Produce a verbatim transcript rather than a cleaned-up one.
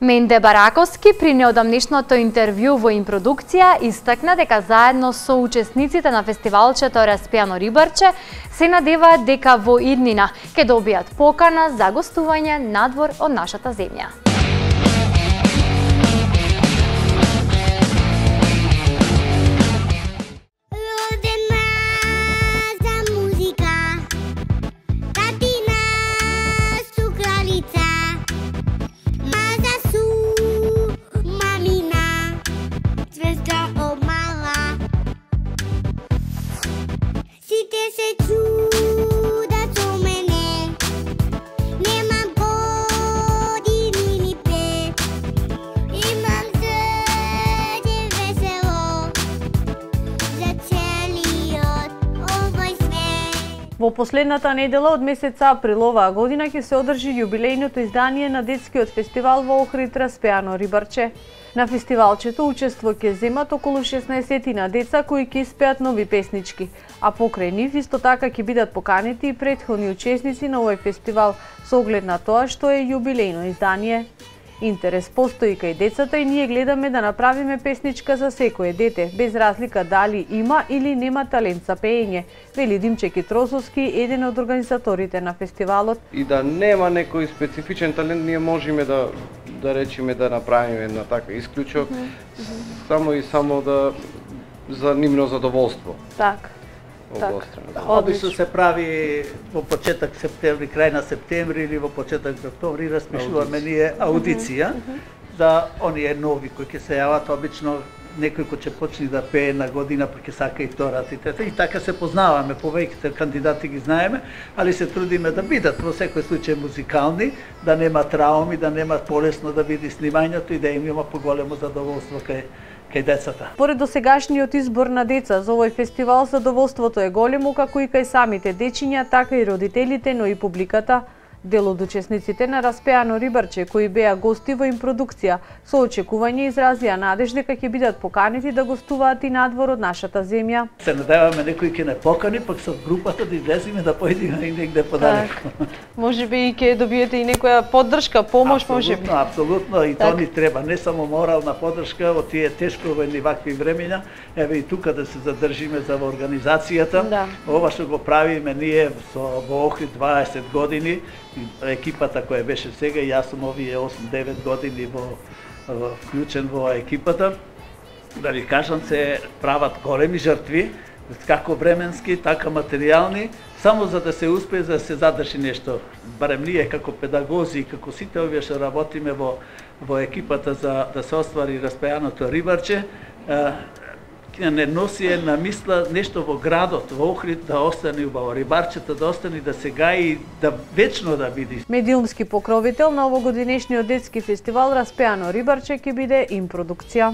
Менде Бараковски при неодамнешното интервју во Импродукција истакна дека заедно со учесниците на фестивалчето Распеано рибарче се надеваат дека во иднина ќе добијат покана за гостување надвор од нашата земја. Во последната недела од месец април оваа година ќе се одржи јубилејното издание на детскиот фестивал во Охрид Распеано рибарче. На фестивалчето учество ќе земат околу шеснаесет деца кои ќе испеат нови песнички, а покрај нив исто така ќе бидат поканети и претходни учесници на овој фестивал со оглед на тоа што е јубилејно издание. Интерес постои кај децата и ние гледаме да направиме песничка за секое дете, без разлика дали има или нема талент за пеење, вели Димче Китросовски, еден од организаторите на фестивалот. И да нема некој специфичен талент, ние можеме да да речеме да направиме една таква исклучок, mm -hmm. само и само да за нивно задоволство. Так. Обично се прави во почеток септември, крај на септември или во почеток октомври распишуваме ние аудиција за оние нови кои ќе се јават, обично некој кој ќе почне да пее на година, па ќе сака и втората и трета. И така се познаваме, повеќето кандидати ги знаеме, али се трудиме да бидат во секој случај музикални, да нема трауми, да нема полесно да биде снимањето и да им има поголемо задоволство кај кај децата. Поред досегашниот избор на деца за овој фестивал, задоволството е големо како и кај самите дечиња, така и родителите, но и публиката. Дел од учесниците на Распеано рибарче, кои беа гости во Импродукција, со очекување изразија надеж дека ќе бидат поканети да гостуваат и надвор од нашата земја. Се надеваме некој ќе не покани, пак со групата да излеземе да појдеме и негде подалеку. Може би и ќе добиете и некоја поддршка, помош, може би. Апсолутно, и тоа ни треба, не само морална поддршка во тие тешко во едни вакви времења, еве и тука да се задржиме за во организацијата. Да. Ова што го правиме ние со во Охрид дваесет години, екипата која беше сега, и јас сум овие осум-девет години во, во вклучен во екипата, да ви кажам, се прават големи жртви, како временски, така материјални, само за да се успее да се задржи нешто. Барем ние како педагози и како сите овие што работиме во во екипата за да се оствари Распеаното рибарче, не носи една мисла нешто во градот, во Охрид да остане убаво, рибарчето да остане, да се гаи и да вечно да биде. Медиумски покровител на овогодинешниот детски фестивал Распеано рибарче ќе биде Импродукција.